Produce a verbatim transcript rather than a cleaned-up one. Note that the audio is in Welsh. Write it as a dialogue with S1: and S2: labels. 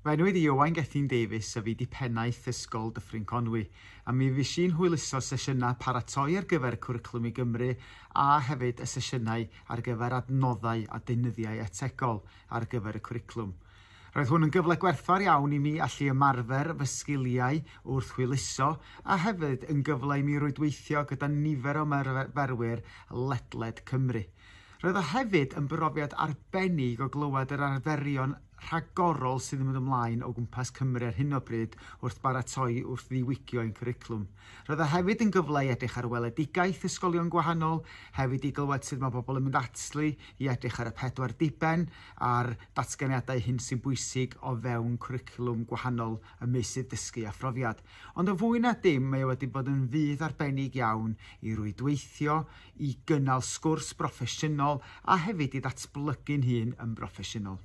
S1: Fy enw i 'di Owain Gethin Davies a fi 'di pennaeth Ysgol Dyffryn Conwy, a mi fues i'n hwyluso sesiynau paratoi ar gyfer y Cwricwlwm i Gymru a hefyd y sesiynau ar gyfer adnoddau a deunyddiau ategol ar gyfer y cwricwlwm. Roedd hwn yn gyfle gwerthfawr iawn i mi allu ymarfer fy sgiliau wrth hwyluso a hefyd yn gyfle i mi rwydweithio gyda nifer o ymarferwyr ledled Cymru. Roedd o hefyd yn brofiad arbennig o glywed yr arferion rhagorol sydd yn mynd ymlaen o gwmpas Cymru ar hyn o bryd wrth baratoi wrth ddiwygio ein cwricwlwm. Roedd o hefyd yn gyfle i edrych ar weledigaeth ysgolion gwahanol, hefyd i glywed sut mae bobl yn mynd ati i edrych ar y pedwar diben a'r datganiadau hyn sy'n bwysig o fewn cwricwlwm gwahanol ym meysydd dysgu a phrofiad. Ond yn fwy na dim, mae o wedi bod yn fudd arbennig iawn i rwydweithio, i gynnal sgwrs broffesiynol a hefyd i ddatblygu'n hun yn broffesiynol.